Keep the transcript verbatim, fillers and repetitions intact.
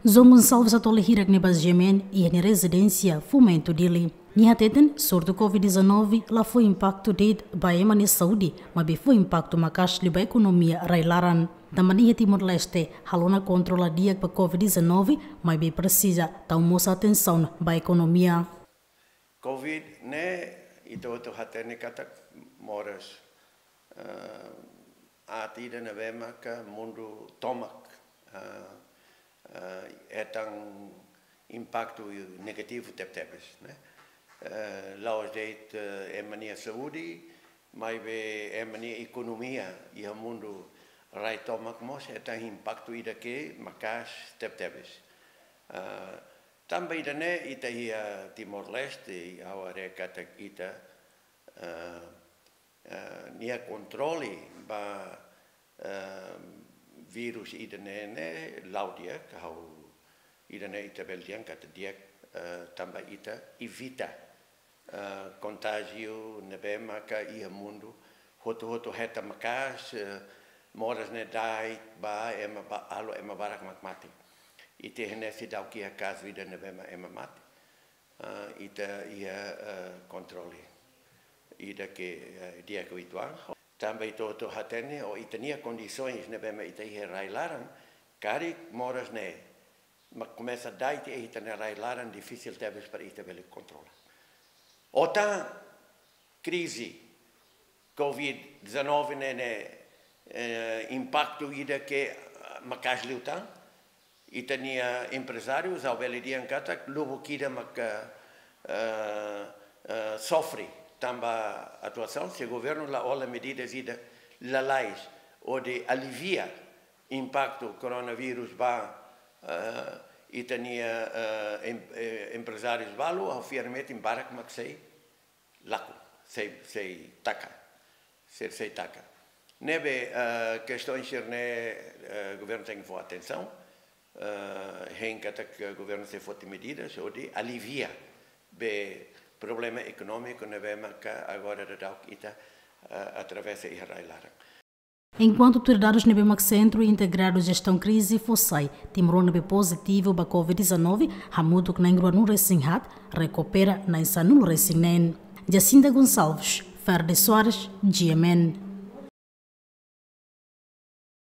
João Gonçalves atu halo hirak ne'e ba GMN iha nia rezidénsia Fomento, Dili. Nia hateten, surtu Covid dezanove la fó impaktu de'it ba ema nia saúde, maibé fó impaktu maka'as liu ba ekonomia rai-laran. Tanba nia iha Timor-Leste, halo ona kontrola di'ak ba Covid dezanove, maibé presiza tau mós atensaun ba ekonomia. Covid ne'e, ita hotu hatene katak moras, eh, aat ida ne'ebé maka mundu tomak, eh, eh, hetan impaktu negativu tebetebes, ne'e. Eh, la'ós de'it, eh, ema nia saúde, maibé ema nia ekonomia iha mundu rai tomak mós hetan impaktu ida ke maka'as tebetebes. Eh, tanba ida-ne'e ita iha Timor-Leste, ha'u haree katak ita, eh, eh, nia kontrole ba, eh, vírus ida-ne'e ne'e la'o di'ak, ha'u ida-ne'e ita bele dehan katak di'ak, eh, tanba ita evita, eh, kontájiu ne'ebé maka iha mundu hotu-hotu hetan maka'as, eh, moras ne'e da'et ba ema ba, halo ema barak mak mate. Ita iha ne'e seidauk iha kazu ida ne'ebé mak ema mate. Ah, ita iha, eh, kontrole ida ke, eh, di'ak uitoan. Tanba ita hotu hatene, ou ita-nia kondisoens ne'ebé mak ita iha rai-laran, karik moras ne'e mak komesa da'et iha ita-nia rai-laran, difisil tebes para ita bele kontrola. Ou tan krize Covid dezanove ne'e, ne'e, eh, impaktu ida ke, ah, maka'as liután. Ita-nia emprezáriu, ha'u bele dehan katak, lubuk ida maka, eh, eh, sofre tanba atuasaun, se governu la hola medidas ida lalais hodi alivia impaktu koronavírus ba, eh, ita-nia, eh, em-, eh, emprezárius balu, ha'u fiar metin barak mak sei lakon, sei, sei taka, sei, sei taka. Ne'ebé, eh, kestaun sira-ne'e, eh, governu tenke fó atensaun, eh, hein katak governu sei foti medidas hodi alivia be problema ekonómiku ne'ebé maka agora daudauk ita, eh, atravesa iha rai-laran. Enkuantu autoridades ne'ebé mak Sentru Integradu Jestaun Krize fó sai, timoroan ne'ebé pozitivu ba Covid dezanove, hamutuk na'in ruanulu resin haat, rekupera na'in sanulu resin neen. Jacinta Gonçalves, Ferde Soares, GMN.